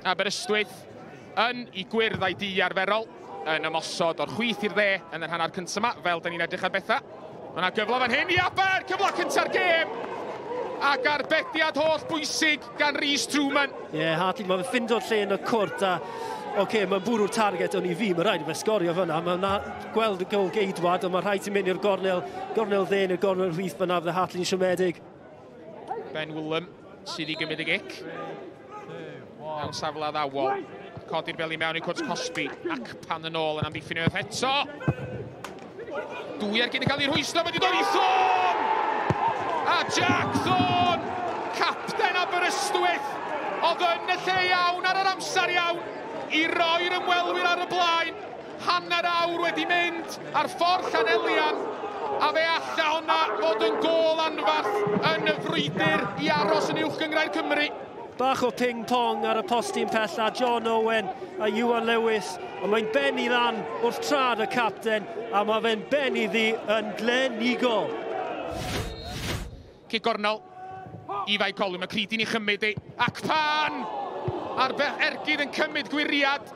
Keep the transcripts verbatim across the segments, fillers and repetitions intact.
Aberystwyth yn ei gwyrdd a'i du arferol, yn ymosod o'r chwith i'r dde yn yr hanner cyntaf yma, fel da ni'n edrych ar bethau. Mae yna gyfle fan hyn i Aber, cyfle cynta'r gêm! Ac arbediad holl bwysig gan Rhys Truman. Ie, yeah, Hartley, mae'n ffindo'r lle yn y cwrt a oce, okay, mae'n bwrw'r target o'n i fi, mae rhaid i fe sgorio fyna. Mae'n gweld y gol geidwad, ond mae rhaid i mynd i'r gornel, gornel dde neu'r gornel chwith fyna, fydde Hartley'n siomedig. Ben Willem sydd i gymryd y gic. Mewn safle addawol. Codi'r bel i mewn i cwrt cosbi. Ac pan yn ôl yn amddiffyn unwaith eto. Dwy ergyd yn cael ei rhwystro, wedi dod i Thorne! A Jack Thorne, capten Aberystwyth, oedd yn y lle iawn ar yr amser iawn i roi'r ymwelwyr ar y blaen. Hanner awr wedi mynd ar ffordd Llanelian, a fe alla hwnna fod yn gôl anfarth yn y frwydr i aros yn Uwch Gynghrair Cymru. Bach o ping-pong ar y postyn pella, John Owen a Iwan Lewis, ond mae'n benni lan wrth trad y capten, a mae fe'n benni ddi yn glenigol. Cic gornel i Fae Colwyn, mae Creedy'n ei chymryd i, ac pan a'r ergyd yn cymryd gwiriad,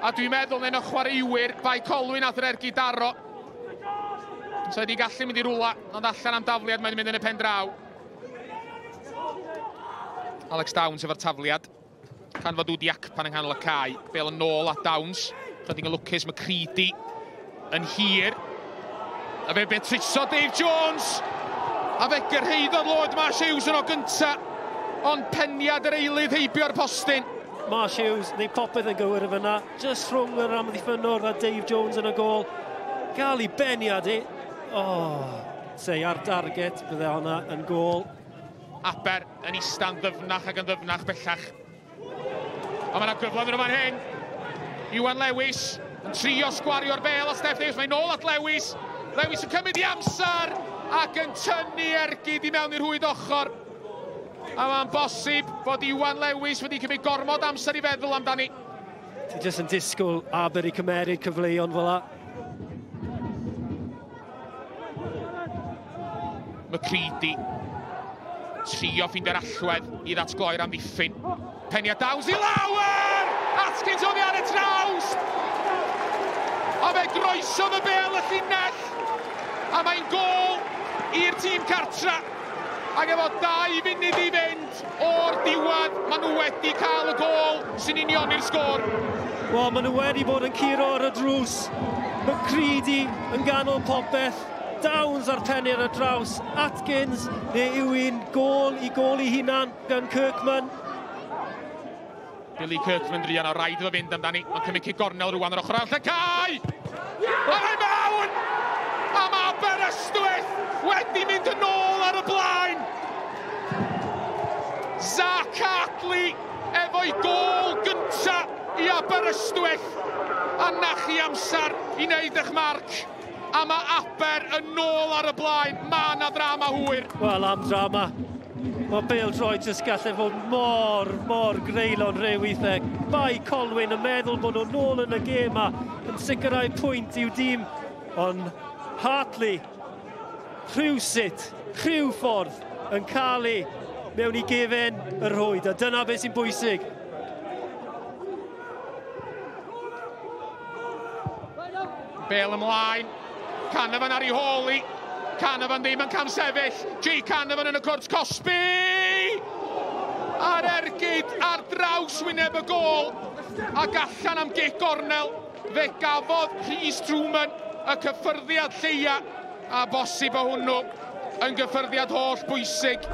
a dwi'n meddwl yn y chwaraewyr, Fae Colwyn ath yr ergyd daro. So wedi gallu mynd i rwla, ond allan am dafliad, mae'n mynd yn y pen draw. Alex Downs efo'r tafliad. Can fod Wdi Acpan yng nghanol y cae. Bel yn ôl at Downs. Chydig yn lwcus, mae Creedy yn hir. A fe betruso Dave Jones. A fe gyrhaeddodd Lord Marsh Hughes yn o gynta. Ond peniad yr eilydd heibio'r postyn. Marsh Hughes, neu popeth yn gywir fyna. Just rhwng yr amddiffynnwr a Dave Jones yn y gôl. Gael ei beniad i. Oh, sei ar target, bydde hwnna yn gôl. Aber yn ista'n ddyfnach ac yn ddyfnach bellach. A mae yna gyfle yn fan hyn. Iwan Lewis yn trio sgwario'r bel a Steph Davies. Mae'n ôl at Lewis. Lewis yn cymryd i amser ac yn tynnu ergyd i mewn i'r rhwyd ochr. A mae'n bosib bod Iwan Lewis wedi cymryd gormod amser i feddwl amdani. Ti jyst yn disgwyl Aber i cymeryd cyfleon fel la. McCready trio ffeindio'r allwedd i ddatgloi'r amddiffyn. Peniad Downs i lawer! Atkins oddi ar y trawst! A fe groesodd y bel y llinell! A mae'n gôl i'r tîm cartra. Ac efo dau funud i fynd o'r diwedd, maen nhw wedi cael y gôl sy'n unioni'r sgôr. Wel, maen nhw wedi bod yn curo ar y drws. McCready yn ganol popeth. Downs ar pennu ar y draws, Atkins, neu yw un gôl i gôl i hunan gan Kirkman. Billy Kirkman druan o raid iddo fynd amdani. Mae'n cymryd cic gornel rwan ar ochr arall y cae! A mae mewn! A mae Aberystwyth wedi mynd yn ôl ar y blaen! Zach Hartley efo'i gôl gynta i Aberystwyth. A na chi amser i wneud eich marc. A mae Aber yn ôl ar y blaen. Mae yna ddrama hwyr. Wel, am drama. Mae bêl-droed jyst gallu fod mor, mor greulon rhyw weithiau. Bae Colwyn yn meddwl bod nhw'n nôl yn y gêm a yn sicrhau pwynt i'w dîm. Ond Hartley, rhywsut, rhyw ffordd, yn cael ei mewn i gefen y rhwyd. A dyna beth sy'n bwysig. Bêl ymlaen. Canavan ar ei hôl i. Canavan ddim yn camsefyll. Jay Canavan yn y cwrt cosbi! A'r ergyd ar draws wyneb y gôl. Ac allan am gic gornel. Fe gafodd Rhys Truman y cyffyrddiad lleia. A bosib o hwnnw yn gyffyrddiad holl bwysig.